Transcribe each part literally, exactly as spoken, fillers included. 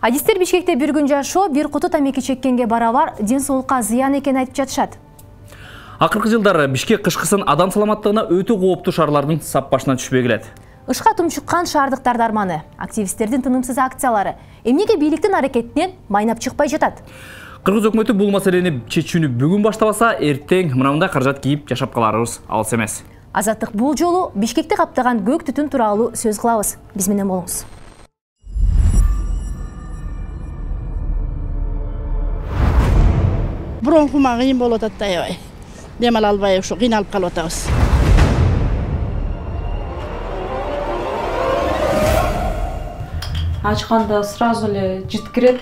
Адистер Бишкекте бир күн жашоо бир куту тамеки чеккенге барабар ден соолукка зыян экенин айтып жатышат. Акыркы жылдары Бишкек кышкысын адам саламаттыгына өтө кооптуу шаарлардын сап башына түшпөй келет. Ышка тумчуккан шаардыктар дарманы, активисттердин тынымсыз акциялары эмнеге бийликтин аракетинен майнап чыкпай жатат? Кыргыз өкмөтү бул маселени чечүүнү бүгүн баштабаса, эртең мындай каражат кийип жашап каларыбыз алыс эмес. Азаттык бул жолу Бишкекти каптаган көк түтүн тууралуу сөз кылабыз. Биз менен болуңуз. Бронхума кыйын болуп атат да аябай. Дем ала албай ушу кыйналып калып атабыз. Ачканда сразу эле жыт кирет.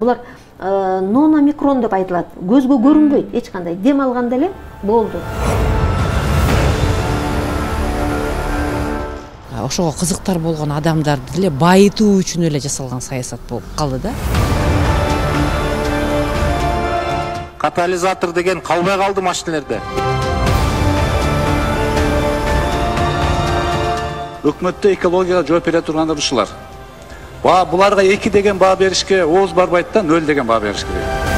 Булар нономикрон деп айтылат. Көзгө көрүнбөйт, эч кандай. Дем алганда эле болду. Ошого кызыктар болгон адамдарды эле байытуу үчүн эле жасалган саясат болуп калды да. Катализатор деген калбай калды машинелерде. Өкмөттө экологияга жооп бере тургандар ушулар. Ба буларга эки деген баа беришке ооз барбайт да, нөл деген баа бериш керек.